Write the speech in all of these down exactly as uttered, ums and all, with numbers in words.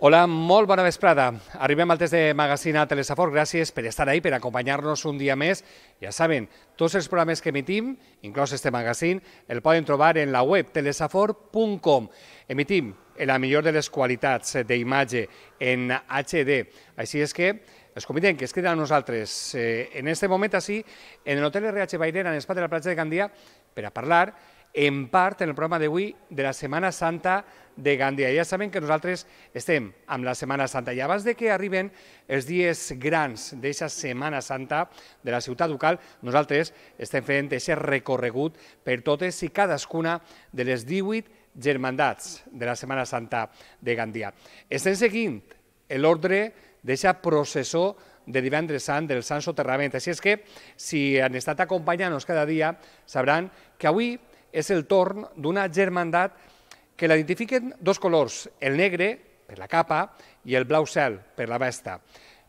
Hola, molt bona vesprada. Arribem al test de Magazine a Telesafor. Gràcies per estar ahí, per acompanyar-nos un dia més. Ja saben, tots els programes que emitim, inclòs este magazine, el poden trobar en la web telesafor punt com. Emitim en la millor de les qualitats d'imatge en H D. Així és que els convidem que es queden a nosaltres eh, en este moment així, en l'Hotel R H Bairena, en l'espai de la platja de Gandia, per a parlar en part en el programa d'avui de la Setmana Santa de Gandia. Ja saben que nosaltres estem amb la Setmana Santa i abans de que arriben els dies grans d'aquesta Setmana Santa de la ciutat ducal, nosaltres estem fent aquest recorregut per totes i cadascuna de les divuit germandats de la Setmana Santa de Gandia. Estem seguint l'ordre d'aquesta processó de divendres sant del Sant Soterrament. Així és que, si han estat acompanyant-nos cada dia, sabran que avui és el torn d'una germandat que l'identifiquen dos colors, el negre per la capa i el blau cel per la vesta.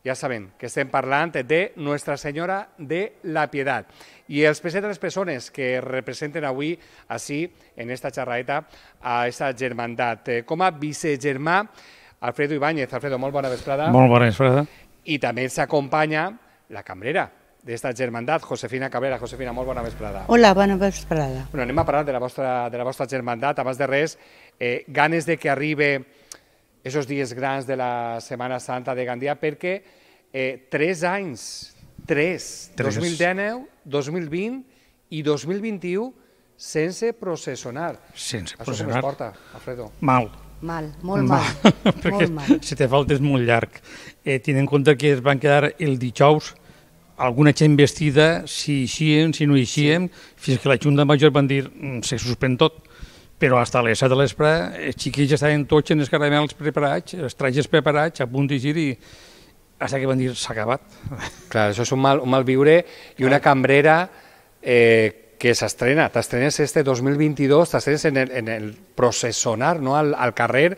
Ja saben que estem parlant de Nuestra Senyora de la Piedad. I els presenten les persones que representen avui així, en esta xerraeta, a aquesta germandat. Com a vicegermà, Alfredo Ibáñez. Alfredo, molt bona vesprada. Molt bona vesprada. I també s'acompanya la cambrera d'esta germandat, Josefina Cabrera. Josefina, molt bona vesprada. Hola, bona vesprada. Bueno, anem a parlar de la vostra, de la vostra germandat. Abans de res, eh, ganes de que arribe esos dies grans de la Setmana Santa de Gandia, perquè eh, tres anys, tres, dos mil dinou, dos mil vint i dos mil vint-i-u, sense processionar. Sense Això processionar. com es porta, Alfredo? Mal. Mal, molt mal. Perquè molt mal. si te falta és molt llarg. Eh, tenint en compte que es van quedar el dijous alguna gent vestida, si eixien, si no eixien, sí. Fins que la Junta Major van dir se suspèn tot. Però fins a les set de l'espre els xiquills estaven tots en els caramels preparats, els trajes preparats, a punt d'eixir i fins que van dir s'ha acabat. Clar, això és un mal, un mal viure i una cambrera eh, que s'estrena. T'estrenes este dos mil vint-i-dos, t'estrenes en el, en el processionar, no? al, al carrer.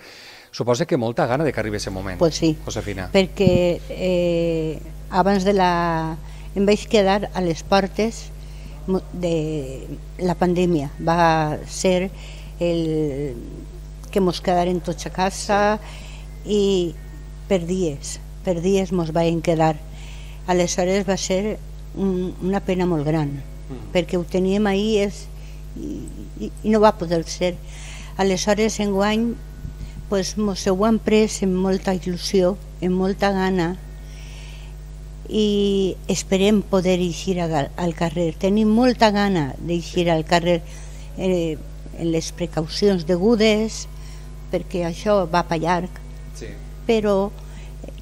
Suposa que molta gana de que arribi aquest moment, pues sí, Josefina. Perquè eh, abans de la... em vaig quedar a les portes de la pandèmia. Va ser el que mos quedaren tots a casa i per dies, per dies mos vam quedar. Aleshores va ser un, una pena molt gran, mm. perquè ho teníem ahir és, i, i, i no va poder ser. Aleshores, enguany, pues, mos ho han pres amb molta il·lusió, amb molta gana, i esperem poder eixir al carrer. Tenim molta gana d'eixir al carrer eh, en les precaucions degudes, perquè això va per llarg, sí. Però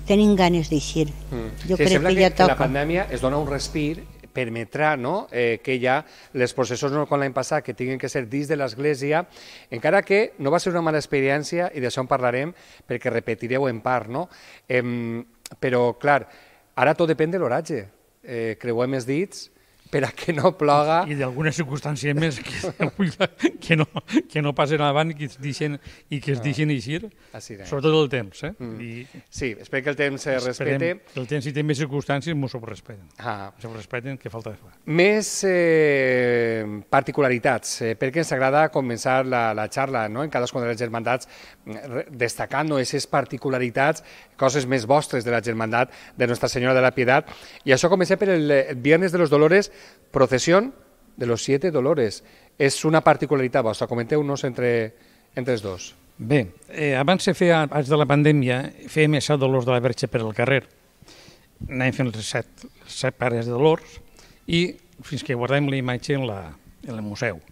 tenim ganes d'eixir. Mm. Jo sí, crec sembla que, que ja toca. La pandèmia es dona un respir, permetrà, no? eh, que ja les processons, no com l'any passat, que tinguin que ser dins de l'església, encara que no va ser una mala experiència, i d'això en parlarem, perquè repetireu en part, no? Eh, però, clar, ara tot depèn de l'oratge. Eh, creuem els dits per a que no ploga. I d'alguna circumstància més que, que, no, que no passen avant i que es deixen, i que es deixen eixir, sobretot el temps. Eh? Mm. I sí, espero que el temps se respecte. El temps, si té més circumstàncies, m'ho sobrespeten. Ah. S'ho respecten, que falta de fa. Més eh, particularitats, eh, perquè ens agrada començar la, la xarra, no? En cadascuna de les germandats, destacant no, aquestes particularitats, coses més vostres de la germandat de Nuestra Senyora de la Piedad. I això comença per el, el Viernes de los Dolores, procesión de los siete dolores. És una particularitat vostra, comenteu-nos entre, entre els dos. Bé, eh, abans se feia, abans de la pandèmia, fèiem els set dolors de la Verge per al carrer. Anàvem fent els set, set pares de dolors i fins que guardem la imatge en, la, en el museu.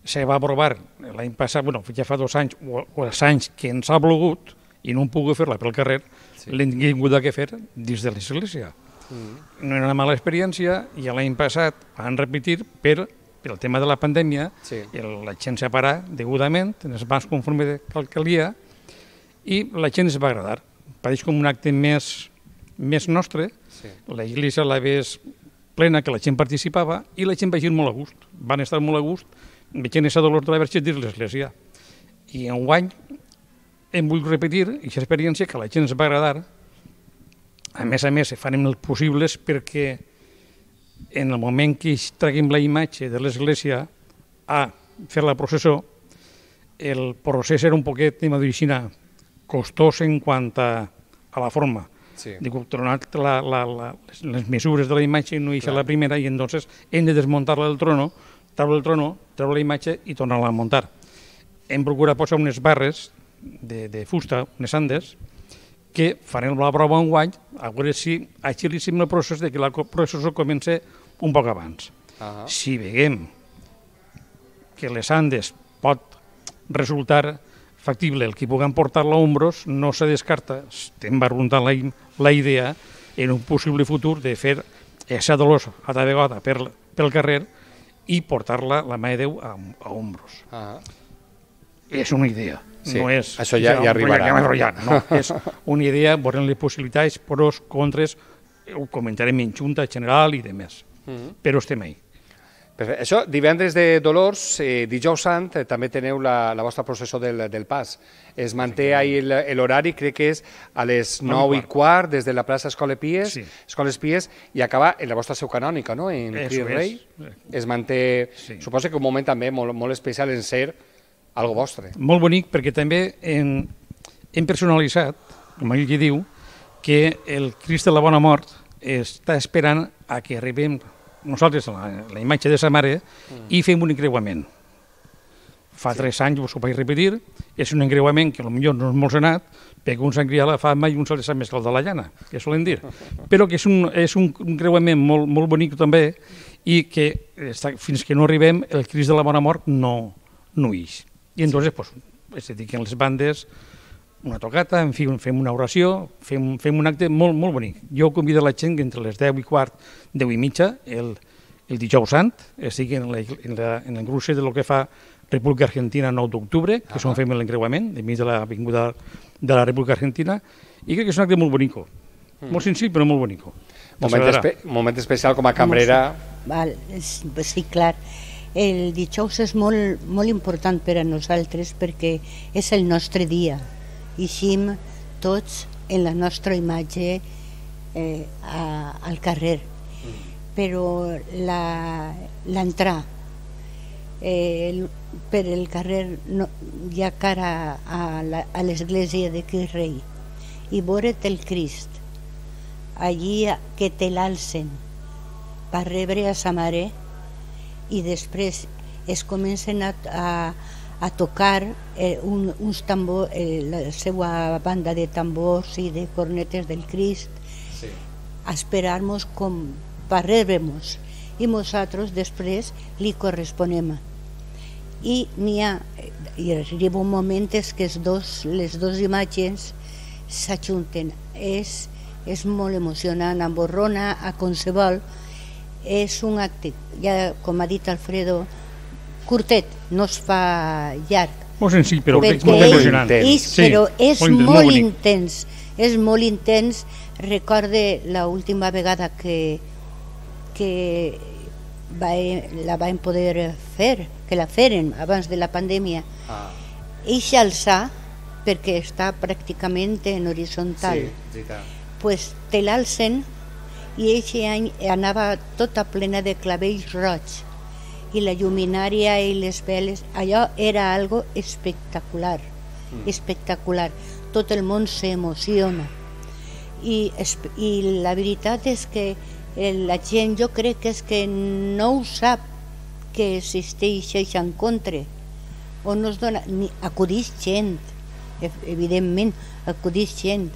Se va aprovar l'any passat, bueno, ja fa dos anys, o, o els anys que ens ha volgut, i no hem pogut fer-la pel carrer, sí. L'hem tingut que fer dins de l'església. Mm. No era una mala experiència i l'any passat van repetir per, per el tema de la pandèmia, sí. La gent s'ha parat degudament, ens va conforme que calia i la gent es va agradar. Pareix com un acte més, més nostre, sí. L'església la ves plena, que la gent participava i la gent va ir molt a gust, van estar molt a gust veient aquesta dolor de la Verge dins l'església. I enguany hem volgut repetir aquesta experiència que a la gent ens va agradar. A més a més, farem els possibles perquè en el moment que traguem la imatge de l'església a fer la processó, el procés era un poquet, anem a dir així, costós en quant a, a la forma. Sí. Dic, tronat la, la, la, les mesures de la imatge no hi la primera i entonces hem de desmuntar-la del trono, treure el trono, treure la imatge i tornar-la a muntar. Hem procurat posar unes barres de, de fusta, unes andes, que farem la prova un guany, a veure si agilíssim el procés de que el procés comença un poc abans. Uh -huh. Si veiem que les andes pot resultar factible el que puguem portar-la a ombros, no se descarta, estem barruntant la, la idea en un possible futur de fer esa dolors a la vegada per, pel carrer i portar-la, la mà de Déu, a, a ombros. Uh -huh. És una idea. Sí, no és, això ja, ja arribarà. Ja, no, és una idea, veurem les possibilitats, pros, contres, ho comentarem en junta general i demés, uh -huh. però estem ahí. Perfecte. Això, divendres de Dolors, eh, dijous sant, eh, també teniu la, la vostra processó del, del Pas. Es manté ahí l'horari, crec que és a les nou i quart, des de la plaça Escoles Pies, sí. Escoles Pies, i acaba en la vostra seu canònica, no?, en Cristo Rei. Es manté, sí. Suposo que un moment també molt, molt especial en ser algo vostre. Molt bonic, perquè també hem, hem personalitzat, com ell que diu, que el Crist de la Bona Mort està esperant a que arribem nosaltres la, la imatge de sa mare mm. i fem un encreuament. Fa sí. tres anys ho vaig repetir, és un encreuament que potser no és molt senat, perquè un s'han criat la fama i un se li sap més que el de la llana, que solen dir. Però que és un, és un encreuament molt, molt bonic també i que està, fins que no arribem el Crist de la Bona Mort no, no ix. I entonces, pues, es dediquen les bandes, una tocata, en fi, fem una oració, fem, fem un acte molt, molt bonic. Jo convido la gent que entre les deu i quart, deu i mitja, el, el dijous sant, estigui en, la, en, la, en l'engruix de lo que fa República Argentina nou d'octubre, que és on fem l'encreuament, enmig de l'avinguda de la República Argentina, i crec que és un acte molt bonico. Mm. Molt senzill, però molt bonico. Moment, espe moment especial com a cambrera. Val, sí, clar. El dijous és molt, molt important per a nosaltres perquè és el nostre dia. Ixim tots en la nostra imatge eh, a, al carrer. Mm. Però l'entrar eh, per el carrer no, ja cara a, la, a l'església de Crist Rei i veure't el Crist allí que te l'alcen per rebre a sa mare i després es comencen a, a, a tocar eh, un, uns tambors, eh, la seva banda de tambors i de cornetes del Crist, sí. A esperar-nos com per rebre-nos i nosaltres després li corresponem. I n'hi ha, i arriba un moment que els dos, les dues imatges s'ajunten. És, és molt emocionant, emborrona a qualsevol. És un acte, ja com ha dit Alfredo, curtet, no es fa llarg. Molt senzill, però és molt emocionant. És, sí, però és molt, molt, molt intens, és molt intens. Recorde l'última vegada que, que va, la vam poder fer, que la feren abans de la pandèmia. Ah. Eixa alçar, perquè està pràcticament en horitzontal, sí, pues te l'alcen. I aquest any anava tota plena de clavells roig i la lluminària i les veles, allò era algo espectacular, mm. espectacular. Tot el món s'emociona I, i la veritat és que la gent, jo crec que és que no ho sap que existeix això en contra o no es dona, ni acudeix gent, evidentment acudeix gent,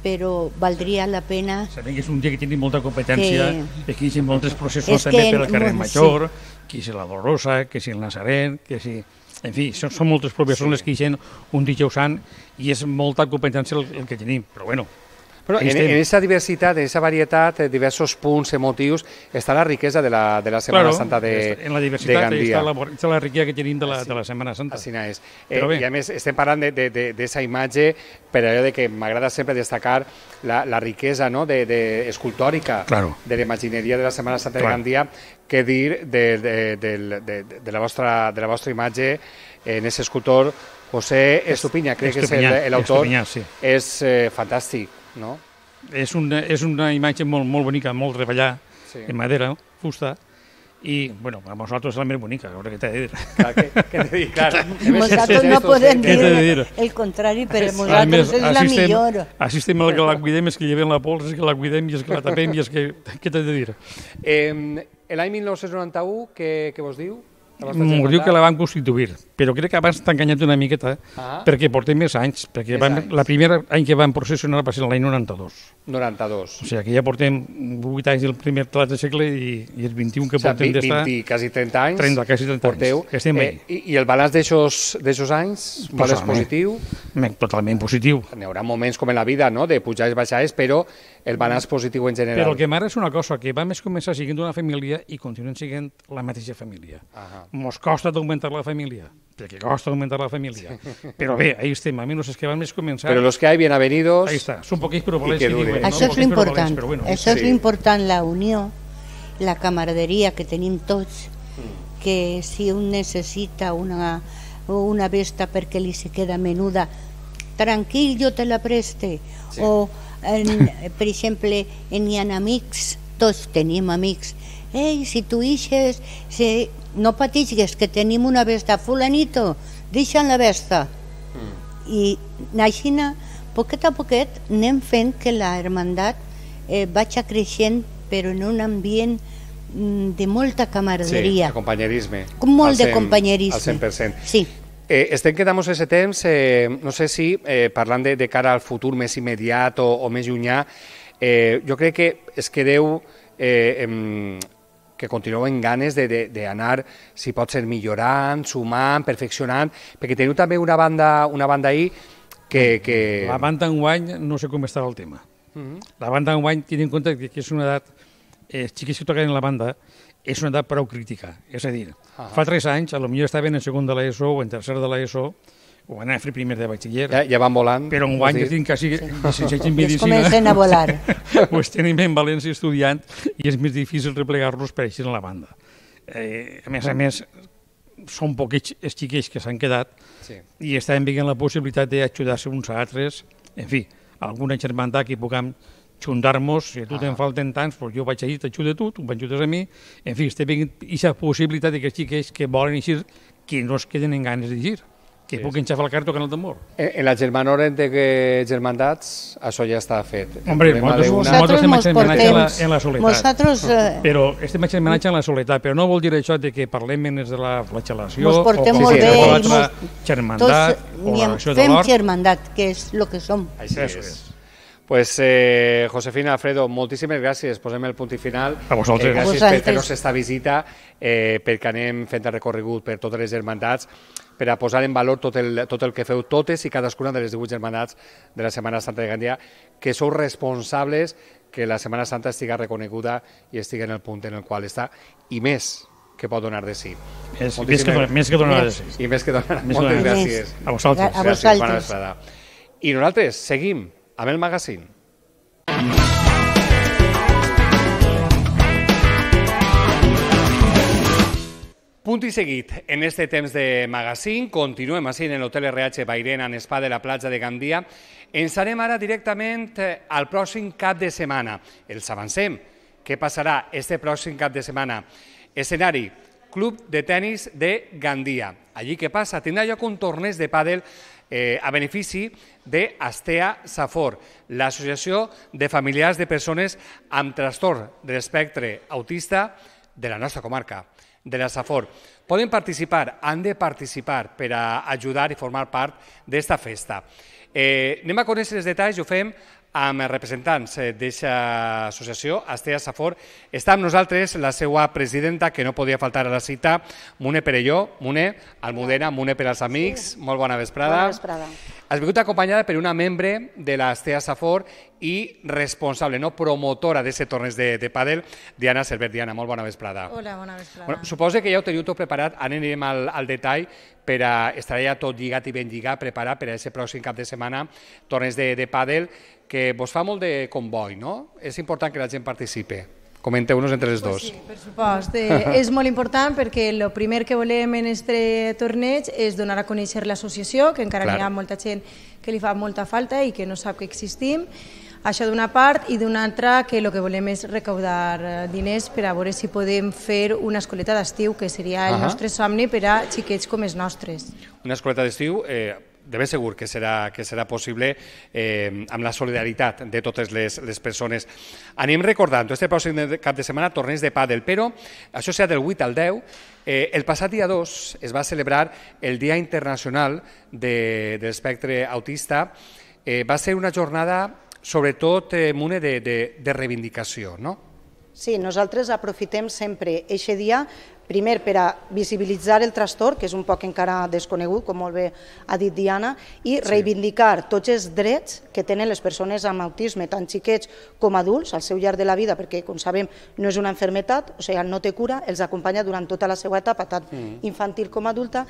però valdria la pena... Sabem que és un dia que tenim molta competència, que aquí hi ha moltes processions també per al carrer Major, que si la Dolorosa, que si el Nazaret, que si... En fi, són, són moltes professions les que hi ha un dijous sant i és molta competència el, el que tenim, però bueno... Però en aquesta diversitat, en aquesta varietat, de diversos punts emotius, està la riquesa de la, de la Setmana claro, Santa de Gandia. En la diversitat està la, està la riquesa que tenim de la, de la Setmana Santa. Així és. Eh, I a més, estem parlant d'aquesta imatge per allò de que m'agrada sempre destacar la, la riquesa, no?, de, de escultòrica claro. de l'imagineria de la Setmana Santa claro. de Gandia, que dir de, de, de, de, de, la vostra, de la vostra imatge en aquest escultor José Estupiñán, crec que és l'autor, sí. És eh, fantàstic. No? És, una, és una imatge molt, molt bonica, molt treballada, sí. En madera, fusta, i, bueno, a nosaltres és la més bonica, a veure què t'he de dir. Clar, què, què t'he de dir? Clar, Nosaltres no podem dir el contrari, però nosaltres és la millor. Així estem el que la cuidem, és que llevem la pols, és que la cuidem i és que la tapem i és que... Què t'he de dir? L'any mil nou-cents noranta-u, què vos diu? M'ho diu que la van constituir, però crec que abans t'ha enganyat una miqueta, perquè portem més anys, perquè la primera any que van processionar va ser l'any noranta-dos. noranta-dos. O sigui, que ja portem vuit anys del primer tlat de segle i els vint-i-un que portem d'estar... vint, quasi trenta anys. trenta, quasi trenta anys, que estem bé. I el balanç d'aixòs anys, és positiu? Totalment positiu. N'hi haurà moments com en la vida, de pujar i baixades, però el balanç positiu en general. Però el que m'agrada és una cosa, que vam començar siguent una família i continuem siguent la mateixa família. Mos costa d'augmentar la família, perquè costa d'augmentar la família. Però bé, ahí estem, a menys que vam més començar... Però los que hay, bienvenidos... Ahí està, són poquets però valents que diuen. Això és l'important, això és l'important, la unió, la camaraderia que tenim tots, que si un necessita una, una vesta perquè li se queda menuda, tranquil, jo te la preste. O, per exemple, n'hi ha amics, tots tenim amics, ei, si tu ixes, no patigues, que tenim una vesta, fulanito, deixa'm la vesta. I així, poquet a poquet, anem fent que la hermandat vagi creixent, però en un ambient de molta camaraderia. Sí, de companyerisme. Molt de companyerisme. Al cent per cent. Sí. Estem quedant-nos aquest temps, no sé si, parlant de cara al futur més immediat o més llunyà, jo crec que es quedeu... que continueu amb ganes d'anar, si pot ser, millorant, sumant, perfeccionant, perquè teniu també una banda una banda ahí que... La banda enguany no sé com estarà el tema. La banda enguany, tenint en compte que és una edat, els xiquets que toquen en la banda, és una edat prou crítica. És a dir, fa tres anys, potser estaven en segon de l'ESO o en tercer de l'ESO, o van a fer primer de batxiller. Ja van volant. Però enguany que tinc quasi llicenciats en medicina... comencen a volar. Doncs tenim en València estudiant i és més difícil replegar-los per així en la banda. A més a més, són poquets els xiquets que s'han quedat i estan veient la possibilitat d'ajudar-se uns a altres. En fi, alguna germandat que puguem juntar-nos, si a tu te'n falten tants, jo vaig allí, t'ajudo a tu, tu m'ajudes a mi. En fi, estem veient aquesta possibilitat que els xiquets que volen eixir, que no es queden en ganes d'eixir, que puguin xafar el carro tocant el tambor. En la germanor entre germandats, això ja està fet. Hombre, nosaltres estem fent homenatge en la soledat. Però estem fent homenatge en la soledat, però no vol dir això que parlem menys de la flagel·lació o qualsevol altra germandat o la relació de l'or. Fem germandat, que és el que som. Així és. Pues, Josefina, Alfredo, moltíssimes gràcies. Posem el punt i final. A vosaltres. Gràcies per fer-nos aquesta visita, perquè anem fent el recorregut per totes les germandats, per a posar en valor tot el que feu totes i cadascuna de les divuit germandats de la Setmana Santa de Gandia, que sou responsables que la Setmana Santa estigui reconeguda i estigui en el punt en el qual està, i més que pot donar de sí. Més que donar de sí. I més que donar. Moltes gràcies. A vosaltres. A vosaltres. I nosaltres seguim amb el magazín. Punt i seguit, en este temps de magazín, continuem així en l'Hotel R H Bairén en Spa de la platja de Gandia. Ens anem ara directament al pròxim cap de setmana. Els avancem. Què passarà este pròxim cap de setmana? Escenari, Club de Tenis de Gandia. Allí què passa? Tindrà lloc un torneig de pàdel a benefici d'Astea Safor, l'associació de familiars de persones amb trastorn de l'espectre autista de la nostra comarca, de la Safor. Poden participar, han de participar per a ajudar i formar part d'esta festa. Anem a conèixer els detalls i ho fem amb els representants d'aquesta associació, Astea Safor. Està amb nosaltres la seva presidenta, que no podia faltar a la cita, Mune Perelló. Mune, Almudena, Mune per als amics. Molt bona vesprada. Bona vesprada. Has vingut acompanyada per una membre de l'Astea Safor i responsable, no promotora d'aquest torneig de pàdel, Diana Cervert. Diana, molt bona vesprada. Hola, bona vesprada. Suposo que ja ho teniu tot preparat, anirem al detall per a estar ja tot lligat i ben lligat, preparat per a aquest pròxim cap de setmana, torneig de pàdel, que vos fa molt de comboi, no? És important que la gent participi. Comenteu-nos entre les dos. Sí, per supost. És molt important perquè el primer que volem en aquest torneig és donar a conèixer l'associació, que encara hi ha molta gent que li fa molta falta i que no sap que existim. Això d'una part, i d'una altra que el que volem és recaudar diners per a veure si podem fer una escoleta d'estiu, que seria el nostre somni per a xiquets com els nostres. Una escoleta d'estiu, eh, de ben segur que serà, que serà possible eh, amb la solidaritat de totes les, les persones. Anem recordant, este pròxim cap de setmana torneig de pàdel, però això serà del vuit al deu. Eh, el passat dia dos es va celebrar el Dia Internacional de, de l'Espectre Autista. Eh, va ser una jornada sobretot eh, mune de, de, de reivindicació, no? Sí, nosaltres aprofitem sempre aquest dia, primer per a visibilitzar el trastorn, que és un poc encara desconegut, com molt bé ha dit Diana, i reivindicar tots els drets que tenen les persones amb autisme, tant xiquets com adults, al seu llarg de la vida, perquè, com sabem, no és una malaltia, o sigui, no té cura, els acompanya durant tota la seva etapa, tant infantil com adulta.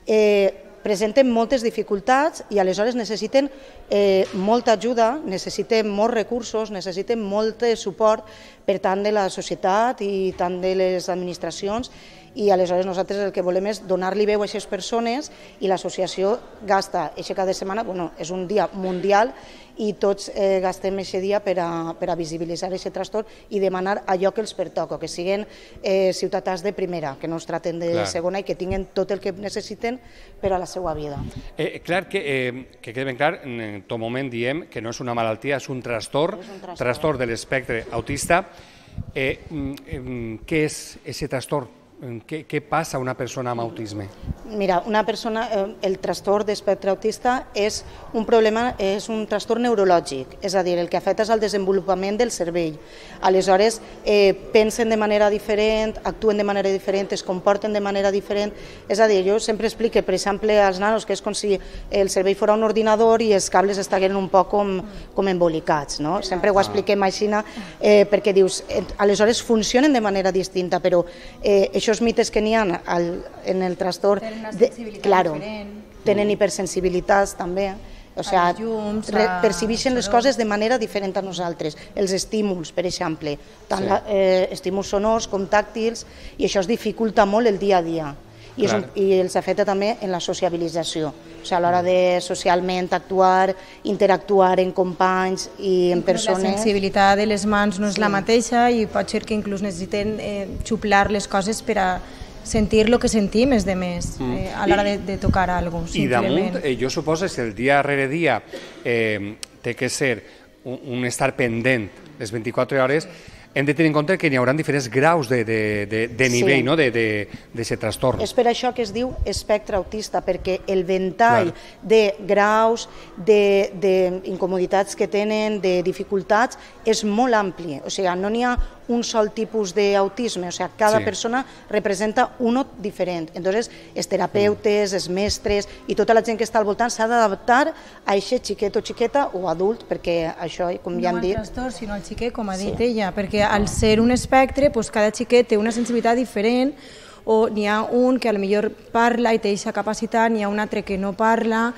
Eh, presenten moltes dificultats i aleshores necessiten eh, molta ajuda, necessiten molts recursos, necessiten molt suport per tant de la societat i tant de les administracions, i aleshores nosaltres el que volem és donar-li veu a aquestes persones, i l'associació gasta aquest cap de setmana, bueno, és un dia mundial, i tots eh, gastem aquest dia per a, per a visibilitzar aquest trastorn i demanar allò que els pertoca, que siguin eh, ciutadans de primera, que no es traten de clar. segona i que tinguin tot el que necessiten per a la seva vida. Eh, clar que, eh, que quede ben clar, en tot moment diem que no és una malaltia, és un trastorn, és un trastorn. trastorn de l'espectre autista. Eh, eh, què és aquest trastorn? Què, què passa a una persona amb autisme? Mira, una persona, eh, el trastorn d'espectre autista és un problema, és un trastorn neurològic, és a dir, el que afecta és el desenvolupament del cervell. Aleshores, eh, pensen de manera diferent, actuen de manera diferent, es comporten de manera diferent. És a dir, jo sempre explico, per exemple, als nanos que és com si el cervell fos un ordinador i els cables estiguin un poc com, com embolicats, no? Sempre ho expliquem així, eh, perquè dius, eh, aleshores funcionen de manera distinta, però eh, aquests mites que n'hi ha al, en el trastorn tenen una sensibilitat claro, diferent, tenen hipersensibilitats també, o sigui, llums, percibeixen les coses de manera diferent a nosaltres, els estímuls, per exemple, tant sí. la, eh, estímuls sonors com tàctils, i això es dificulta molt el dia a dia. I, és un, i els afecta també en la sociabilització, o sigui, a l'hora de socialment actuar, interactuar en companys i en persones. La sensibilitat de les mans no és sí. la mateixa, i pot ser que inclús necessiten eh, xuplar les coses per a sentir el que sentim els demés mm. eh, a l'hora de, de tocar alguna cosa. I damunt, eh, jo suposo que el dia rere dia eh, té que ser un, un estar pendent les vint-i-quatre hores, hem de tenir en compte que hi haurà diferents graus de, de, de, de nivell sí. no? d'aquest trastorn. És per això que es diu espectre autista, perquè el ventall Clar. de graus, d'incomoditats que tenen, de dificultats, és molt ampli. O sigui, no n'hi ha un sol tipus d'autisme, o sigui, cada sí. persona representa uno diferent. Entonces, els terapeutes, els mestres i tota la gent que està al voltant s'ha d'adaptar a aquest xiquet o xiqueta o adult, perquè això, com ja hem dit... No el trastorn, sinó el xiquet, com ha dit sí. ella, perquè al ser un espectre, doncs cada xiquet té una sensibilitat diferent, o n'hi ha un que potser parla i té aquesta capacitat, n'hi ha un altre que no parla,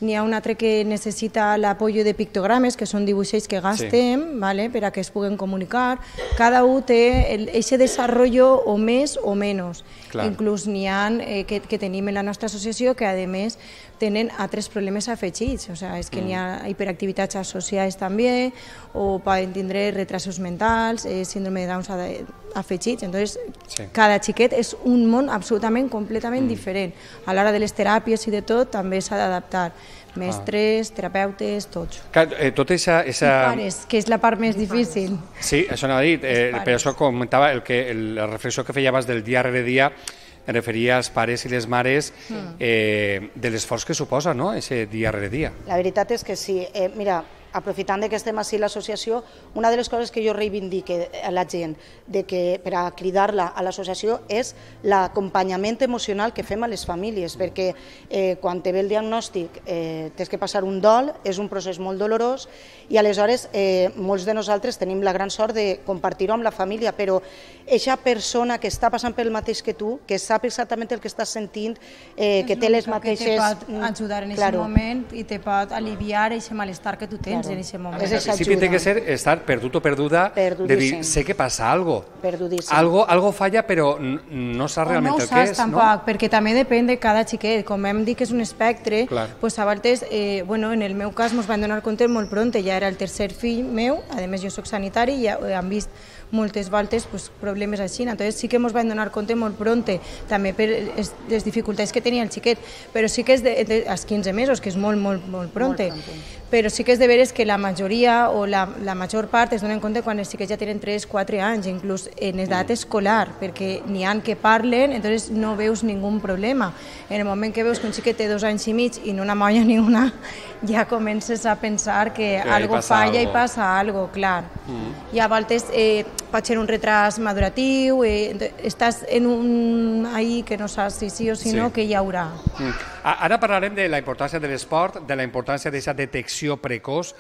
n'hi ha un altre que necessita l'apoyo de pictogrames, que són dibuixos que gastem sí. vale, per a que es puguen comunicar. Cada un té aquest desenvolupament o més o menys. Clar. Inclús n'hi ha eh, que, que tenim en la nostra associació que, a més, tenen altres problemes afegits. O sigui, és que mm. n'hi ha hiperactivitats associades també, o poden tindre retrasos mentals, eh, síndrome de Down afegits. Entonces, sí. cada xiquet és un món absolutament, completament mm. diferent. A l'hora de les teràpies i de tot, també s'ha d'adaptar. Mestres, ah. terapeutes, tots. Eh, tot esa, esa... I pares, que és la part més difícil. Sí, això anava a dir, eh, per això comentava el que, el, la reflexió que feia abans del dia rere dia, em referia als pares i les mares mm. eh, de l'esforç que suposa, no?, ese dia rere dia. La veritat és que sí. Eh, mira, aprofitant que estem així a l'associació, una de les coses que jo reivindique a la gent de que, per a cridar-la a l'associació és l'acompanyament emocional que fem a les famílies, perquè eh, quan te ve el diagnòstic eh, tens que passar un dol, és un procés molt dolorós, i aleshores eh, molts de nosaltres tenim la gran sort de compartir-ho amb la família, però aquesta persona que està passant pel mateix que tu, que sap exactament el que estàs sentint, eh, que té les mateixes... Que te pot ajudar en aquest claro. moment i te pot aliviar aquest malestar que tu tens. nens en aquest moment. És Al principi té que ser estar perdut o perduda, de dir, sé que passa algo. Perdudíssim. Algo, algo falla, però no saps realment el que és. No ho saps tampoc, perquè també depèn de cada xiquet. Com hem dit que és un espectre, doncs a vegades, eh, bueno, en el meu cas mos van donar compte molt pront, ja era el tercer fill meu, a més jo soc sanitari i ja hem vist moltes voltes pues, problemes així, entonces sí que ens van donar compte molt pronte, també per les dificultats que tenia el xiquet, però sí que és de, de, als quinze mesos, que és molt, molt, molt pronte, molt pronte. Però sí que és de veres que la majoria o la, la major part es donen compte quan els xiquets ja tenen tres quatre anys, inclús en edat escolar, perquè n'hi ha que parlen, entonces no veus ningú problema. En el moment que veus que un xiquet té dos anys i mig i no una molla ni una, ja comences a pensar que, que algo falla algo. I passa algo, clar. Mm. I a voltes eh, pot ser un retras maduratiu, eh, estàs en un ahí que no saps si sí o si sí. No, que hi haurà. Mm. Ara parlarem de la importància de l'esport, de la importància d'aquesta detecció precoç,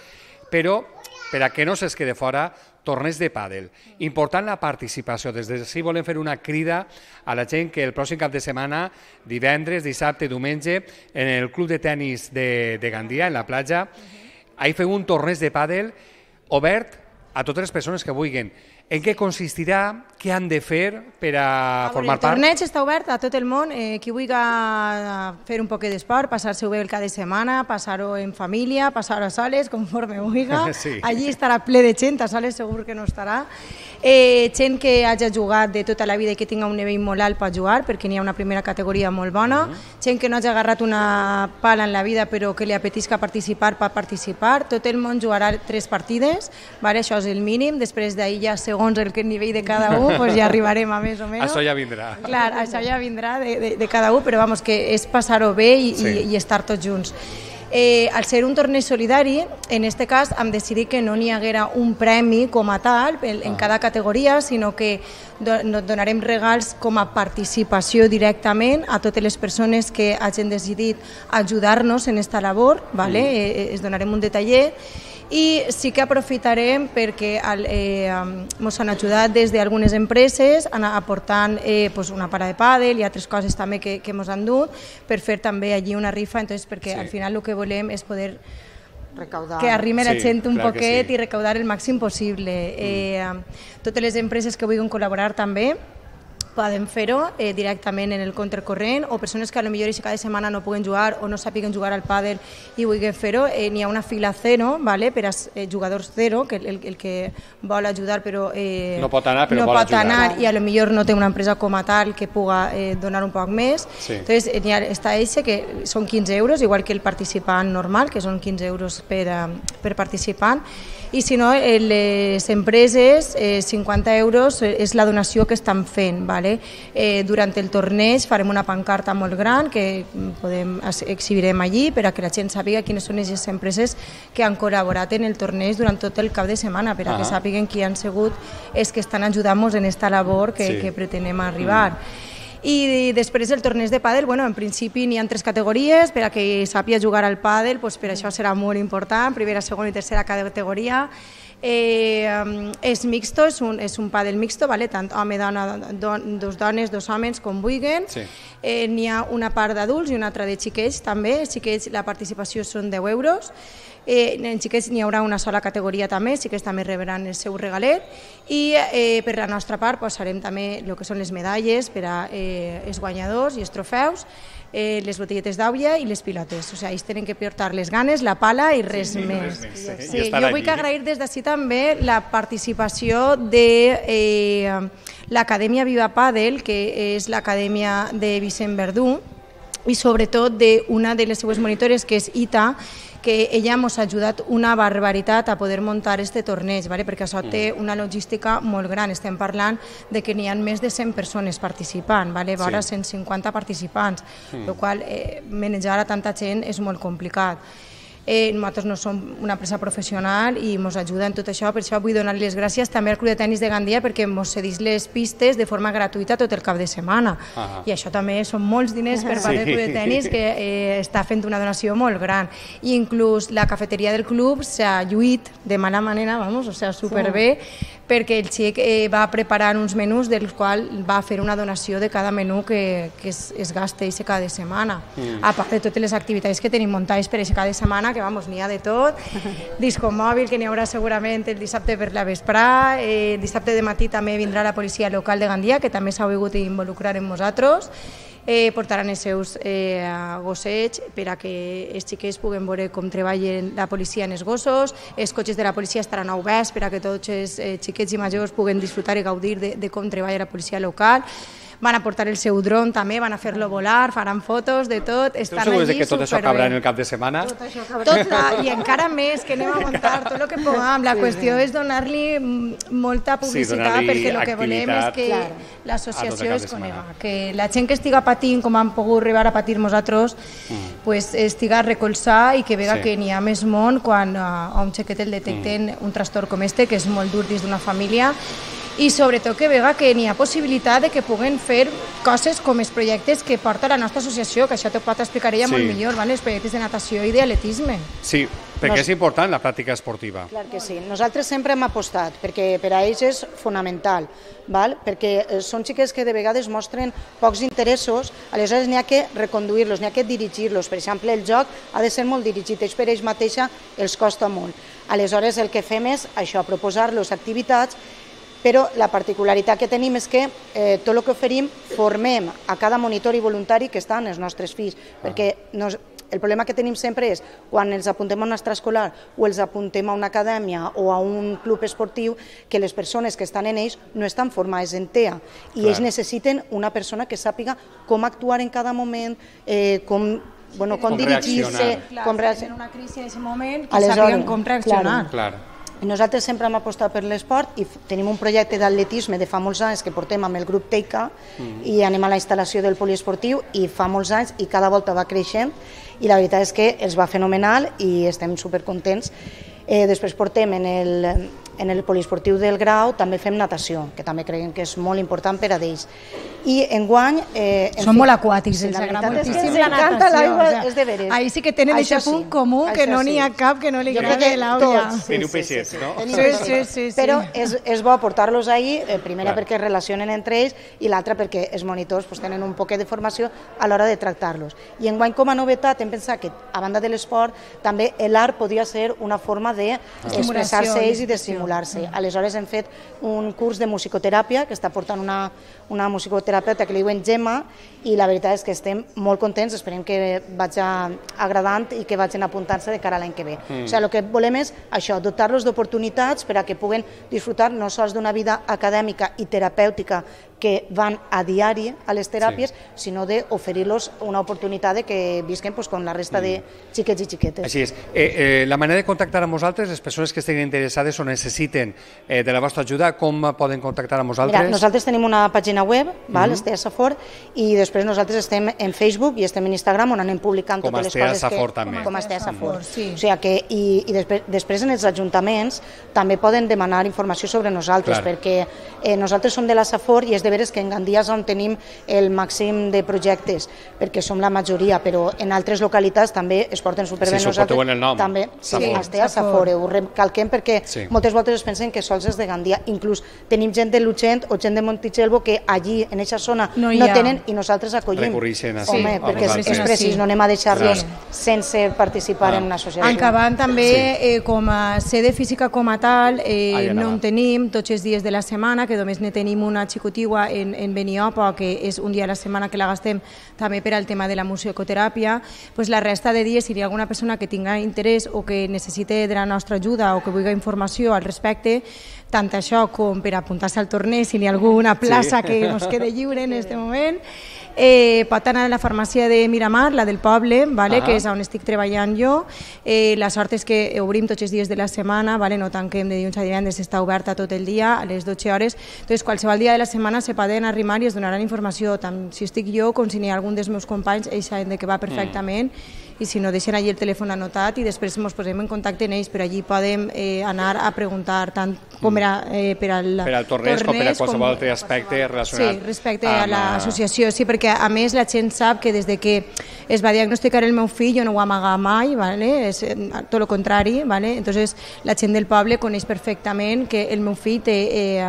però per a que no se'ls quede fora, torneig de pàdel. Important la participació. Des d'ací volem fer una crida a la gent que el pròxim cap de setmana, divendres, dissabte, diumenge, en el club de tennis de, de Gandia, en la platja, ahí fem un torneig de pàdel obert a totes les persones que vulguin. En què consistirà? Què han de fer per a formar part? El torneig està obert a tot el món. Eh, qui vulgui fer un poc d'esport, passar-se-ho bé el cap de setmana, passar-ho en família, passar-ho a soles, conforme vulgui. Sí. Allí estarà ple de gent, a soles segur que no estarà. Eh, gent que hagi jugat de tota la vida i que tinga un nivell molt alt pot jugar, perquè n'hi ha una primera categoria molt bona. Uh-huh. Gent que no hagi agarrat una pala en la vida però que li apetisca participar, pot participar. Tot el món jugarà tres partides, vale? Això és el mínim. Després d'ahir ja segons el nivell de cada un, pues ja arribarem a més o menys. Això ja vindrà. Clar, això ja vindrà de, de, de cada un, però vamos, que és passar-ho bé i, sí. i, i estar tots junts. Eh, al ser un torneig solidari, en aquest cas hem decidit que no n'hi haguera un premi com a tal en, en cada categoria, sinó que do, donarem regals com a participació directament a totes les persones que hagin decidit ajudar-nos en aquesta labor, ¿vale? Mm. Eh, es donarem un detallet. I sí que aprofitarem perquè ens han ajudat des d'algunes empreses aportant eh, pues una para de pàdel i altres coses també que, que ens han dut per fer també allí una rifa, entonces, perquè sí. Al final el que volem és poder recaudar. Que arrimi la sí, gent un poquet sí. I recaudar el màxim possible. Mm. Eh, totes les empreses que vulguin col·laborar també poden fer-ho eh, directament en el compte corrent, o persones que a lo millor cada setmana no puguen jugar o no sàpiguen jugar al pàdel i vulguin fer-ho. Eh, n'hi ha una fila zero, vale, per als eh, jugadors zero, que el, el que vol ajudar però eh, no pot anar, però no vol pot ajudar. Anar, i a lo millor no té una empresa com a tal que puga eh, donar un poc més. Sí. Entonces, eh, ha, està eixe que són quinze euros, igual que el participant normal, que són quinze euros per, uh, per participant. I si no, les empreses, eh, cinquanta euros és la donació que estan fent. Vale? Eh, durant el torneig farem una pancarta molt gran que podem exhibirem allí per a que la gent sàpiga quines són les empreses que han col·laborat en el torneig durant tot el cap de setmana, per a que sàpiguen qui han sigut els que estan ajudant-nos en aquesta labor que, sí. que pretenem arribar. Mm. I després el torneig de pàdel, bueno, en principi n'hi ha tres categories, per a que sàpiga jugar al pàdel, pues per això serà molt important, primera, segona i tercera categoria. Eh, és mixto, és un, és un pàdel mixto, vale? Tant home, dona, don, dos dones, dos homes, com vulguin. Sí. Eh, n'hi ha una part d'adults i una altra de xiquets també. Els xiquets, la participació són deu euros. Eh, en xiquets n'hi haurà una sola categoria també, els xiquets també rebran el seu regalet, i eh, per la nostra part posarem també el que són les medalles per a eh, els guanyadors i els trofeus, eh, les botelletes d'aigua i les pilotes. O sigui, ells tenen que portar les ganes, la pala i res sí, més. Res més sí. Sí, jo vull agrair des d'ací també la participació de eh, l'Acadèmia Viva Pàdel, que és l'acadèmia de Vicent Verdú, i sobretot d'una de les seues monitores, que és Ita, que ella ens ha ajudat una barbaritat a poder muntar este torneig, ¿vale? Perquè això té una logística molt gran. Estem parlant de que n'hi ha més de cent persones participant, ¿vale? Vora sí. cent cinquanta participants, mm. el qual eh, manejar a tanta gent és molt complicat. Eh, nosaltres no som una empresa professional i ens ajuda en tot això, per això vull donar les gràcies també al Club de Tenis de Gandia perquè ens cedís les pistes de forma gratuïta tot el cap de setmana. Ah. I això també són molts diners per part sí. del Club de Tenis, que eh, està fent una donació molt gran. I inclús la cafeteria del club s'ha lluït de mala manera, vamos, o sigui, superbé, sí. perquè el xic eh, va preparar uns menús dels quals va fer una donació de cada menú que, que es, es gasta cada setmana. Mm. A part de totes les activitats que tenim muntades per aquesta cada setmana, que vamos, n'hi ha de tot, disco mòbil, que n'hi haurà segurament el dissabte per la vesprà, eh, dissabte de matí també vindrà la policia local de Gandia, que també s'ha volgut involucrar en nosaltres, eh, portaran els seus eh, gossets per a que els xiquets puguen veure com treballen la policia en els gossos, els cotxes de la policia estaran oberts per a que tots els eh, xiquets i majors puguen disfrutar i gaudir de, de com treballa la policia local. Van a portar el seu dron també, van a fer-lo volar, faran fotos de tot, estan allí superbé. que tot això acabarà en el cap de setmana? Tot, I encara més, que anem a muntar tot el que puguem. La qüestió és donar-li molta publicitat, perquè el que volem és que l'associació es conega, que la gent que estiga patint, com han pogut arribar a patir nosaltres, estiga a recolzar i que vega que n'hi ha més món quan a un xiquet el detecten un trastorn com este, que és molt dur dins d'una família, i sobretot que vega que n'hi ha possibilitat de que puguen fer coses com els projectes que porta la nostra associació, que això t'ho pot explicar ella molt millor, els projectes de natació i d'atletisme. Sí, perquè és important la pràctica esportiva. Clar que sí. Nosaltres sempre hem apostat, perquè per a ells és fonamental, perquè són xiquets que de vegades mostren pocs interessos, aleshores n'hi ha que reconduir-los, n'hi ha que dirigir-los. Per exemple, el joc ha de ser molt dirigit, ells per ells mateixa els costa molt. Aleshores el que fem és això, proposar-los activitats, però la particularitat que tenim és que eh, tot el que oferim formem a cada monitor i voluntari que estan els nostres fills, perquè nos, el problema que tenim sempre és quan els apuntem a un extraescolar o els apuntem a una acadèmia o a un club esportiu, que les persones que estan en ells no estan formades en T E A i Clar. ells necessiten una persona que sàpiga com actuar en cada moment, eh, com Bueno, com, com dirigir-se, com reaccionar. En una crisi en aquest moment, que sàpiguen com reaccionar. Clar, clar. Nosaltres sempre hem apostat per l'esport i tenim un projecte d'atletisme de fa molts anys que portem amb el grup Teica mm. i anem a la instal·lació del poliesportiu i fa molts anys i cada volta va creixent i la veritat és que els va fenomenal i estem supercontents. Eh, després portem en el, en el poliesportiu del Grau, també fem natació, que també creiem que és molt important per a ells. I enguany... Eh, en Són fi, molt aquàtics, els agrada moltíssim la natació. O sea, és de veres. Ahí sí que tenen aquest punt comú, que no n'hi ha cap que no li agradi l'aula. Teniu peixets, no? Sí, sí, sí. Però és, és bo portar-los ahí, eh, primera perquè es relacionen entre ells i l'altra perquè els monitors pues, tenen un poquet de formació a l'hora de tractar-los. I enguany com a novetat hem pensat que a banda de l'esport també l'art podia ser una forma d'expressar-se ells i d'estimular-se. Aleshores hem fet un curs de musicoteràpia que està portant una, una musicoterapeuta que li diuen Gemma i la veritat és que estem molt contents, esperem que vagi agradant i que vagin apuntant-se de cara a l'any que ve. Mm. O sigui, el que volem és això, dotar-los d'oportunitats per a que puguen disfrutar no sols d'una vida acadèmica i terapèutica que van a diari a les teràpies, sí. sinó d'oferir-los una oportunitat de que visquen pues, com la resta mm. de xiquets i xiquetes. Així és. Eh, eh, la manera de contactar amb vosaltres, les persones que estiguin interessades o necessiten eh, de la vostra ajuda, com poden contactar amb vosaltres? Mira, nosaltres tenim una pàgina web, val, mm-hmm. Estea Safor, i després nosaltres estem en Facebook i estem en Instagram on anem publicant com totes les coses Safor, que... també. Com a Estea Safor, sí. O sigui que, i, i després, després en els ajuntaments també poden demanar informació sobre nosaltres, Clar. perquè eh, nosaltres som de la Safor i és de veres que en Gandia on tenim el màxim de projectes, perquè som la majoria, però en altres localitats també es porten superbé. Sí, nosaltres en el nom. També, sí, Estea Safor, ho recalquem perquè sí. moltes voltes es pensen que sols és de Gandia, inclús tenim gent de Luchent o gent de Montitxelvo que allí, en aquesta zona, no, no tenen i nosaltres acollim. Recorreixen a Home, sí, perquè és, és precís, no anem a deixar-los sí. sense participar ah. en una associació. Acabant també, sí. eh, com a sede física com a tal, eh, no en tenim tots els dies de la setmana, que només ne tenim una xicotigua en, en Beniopa, que és un dia a la setmana que la gastem també per al tema de la musicoteràpia, pues la resta de dies, si hi ha alguna persona que tinga interès o que necessite de la nostra ajuda o que vulgui informació al respecte, tant això com per apuntar-se al torneig, si hi ha alguna plaça sí. que ens quede lliure en aquest moment, Eh, pot anar a la farmàcia de Miramar, la del poble, vale, que és on estic treballant jo. Eh, la sort és que obrim tots els dies de la setmana, vale, no tanquem de dilluns a divendres, està oberta tot el dia a les dotze hores. Entonces, qualsevol dia de la setmana se poden arrimar i es donaran informació, tant si estic jo com si n'hi ha algun dels meus companys, ells saben de què va perfectament. Mm. I si no, deixen allí el telèfon anotat i després ens posem en contacte amb ells, però allí podem eh, anar a preguntar tant com era eh, per al per al torneig, torneig com per a qualsevol altre aspecte relacionat sí, respecte a l'associació, sí, perquè a més la gent sap que des de que es va diagnosticar el meu fill jo no ho amaga mai, ¿vale? És tot el contrari, ¿vale? Entonces la gent del poble coneix perfectament que el meu fill té eh,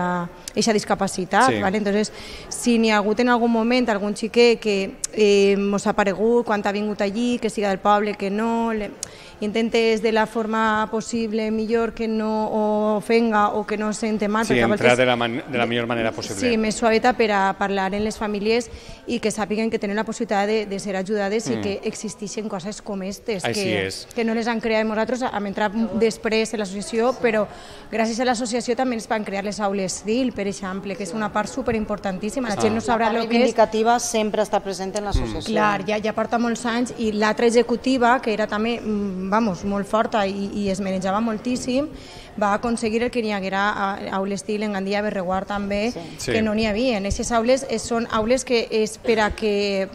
eixa discapacitat, sí. ¿vale? Entonces, si n'hi ha hagut en algun moment algun xiquet que eh, mos ha aparegut quan ha vingut allí, que siga del poble, que no, le, intentes de la forma possible millor que no ofenga o que no sente mal. Sí, entrar de la, man de la millor manera possible. Sí, més suaveta per a parlar en les famílies i que sàpiguen que tenen la possibilitat de, de ser ajudades mm. i que existeixen coses com aquestes, que, que no les han creat nosaltres, hem entrat després en l'associació, però gràcies a l'associació també es van crear les aules D I L, per exemple, que és una part superimportantíssima. La gent no sabrà el que és. La reivindicativa sempre està present en l'associació. Clar, ja, ja porta molts anys, i l'altra executiva, que era també vamos, molt forta i, i es manejava moltíssim, va aconseguir el que n'hi haguera aules D I L en Gandia, Berreguard també, sí. que no n'hi havia. Aquestes aules són aules que és per a que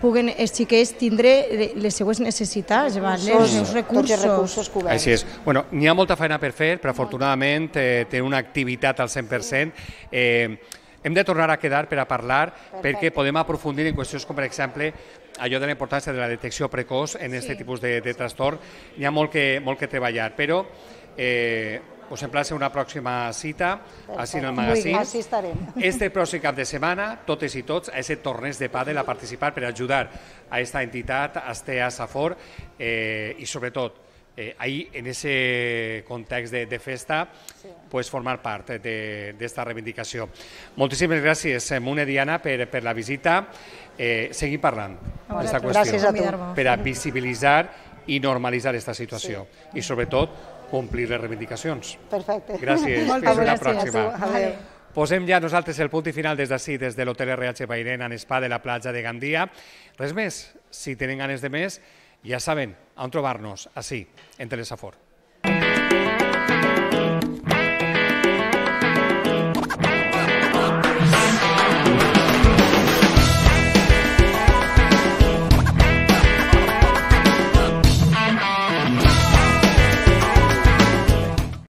puguen els xiquets tindre les seues necessitats, els seus recursos. Tots els recursos coberts. Així és. Bueno, n'hi ha molta feina per fer, però afortunadament eh, té una activitat al cent per cent. Eh, hem de tornar a quedar per a parlar, Perfecte. perquè podem aprofundir en qüestions com, per exemple, allò de la importància de la detecció precoç en aquest sí. tipus de, de trastorn. Hi ha molt que, molt que treballar, però eh, us emplaça una pròxima cita així en el magazín. Així estarem. Este pròxim cap de setmana, totes i tots, a aquest torneig de pàdel a participar per ajudar a aquesta entitat, a Astea Safor, eh, i sobretot, eh, ahí, en aquest context de, de festa, sí. pues, formar part d'esta reivindicació. Moltíssimes gràcies, Mune, Diana, per, per la visita. Eh, seguim parlant d'aquesta qüestió. Gràcies a tu. Per a visibilitzar i normalitzar aquesta situació. Sí. I, sobretot, complir les reivindicacions. Perfecte. Gràcies. Fins una pròxima. Adéu. Posem ja nosaltres el punt i final des d'ací, des de l'Hotel R H Bairén, en Spa de la platja de Gandia. Res més, si tenen ganes de més, ja saben on trobar-nos, ací, en Telesafor.